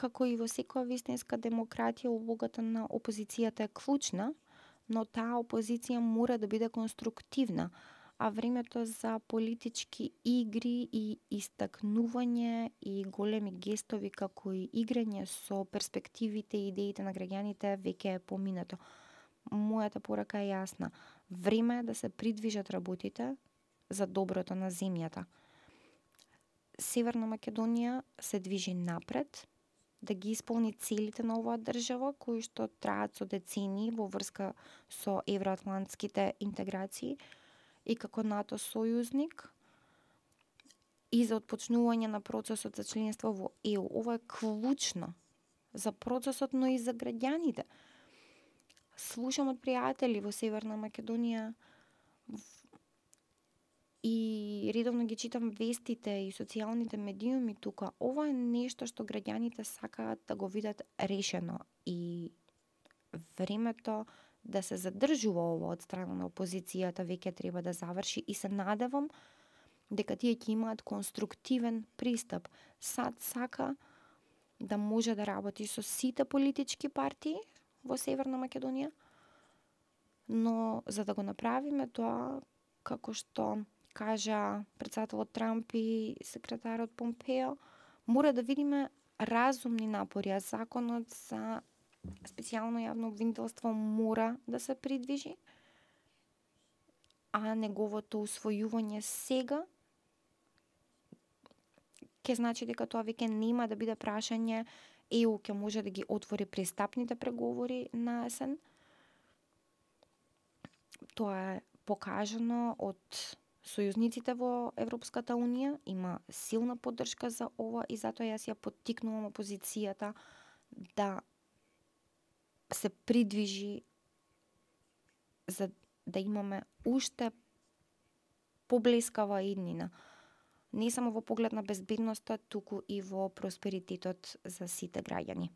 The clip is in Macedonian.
Како и во секоја вистинска демократија, улогата на опозицијата е клучна, но таа опозиција мора да биде конструктивна, а времето за политички игри и истакнување и големи гестови како и играње со перспективите и идеите на граѓаните веќе е поминато. Мојата порака е јасна. Време е да се придвижат работите за доброто на земјата. Северна Македонија се движи напред, да ги исполни целите на оваа држава, кои што траат со децении во врска со евроатлантските интеграции и како НАТО сојузник и за отпочнување на процесот за членство во ЕУ. Ова е клучно за процесот, но и за граѓаните. Слушам од пријатели во Северна Македонија и редовно ги читам вестите и социјалните медиуми тука. Ова е нешто што граѓаните сакаат да го видат решено и времето да се задржува ова од страна на опозицијата веќе треба да заврши и се надевам дека тие ќе имаат конструктивен пристап. САД сака да може да работи со сите политички партии во Северна Македонија, но за да го направиме тоа, како што кажа претседателот Трамп и секретарот Помпео, мора да видиме разумни напори, а законот за специјално јавно обвинителство мора да се придвижи, а неговото усвојување сега ќе значи дека тоа веќе нема да биде прашање. ЕУ ќе може да ги отвори пристапните преговори на есен. Тоа е покажано од сојузниците во Европската Унија, има силна поддршка за ова и затоа јас ја поттикнувам опозицијата да се придвижи за да имаме уште поблескава иднина. Не само во поглед на безбедноста, туку и во просперитетот за сите граѓани.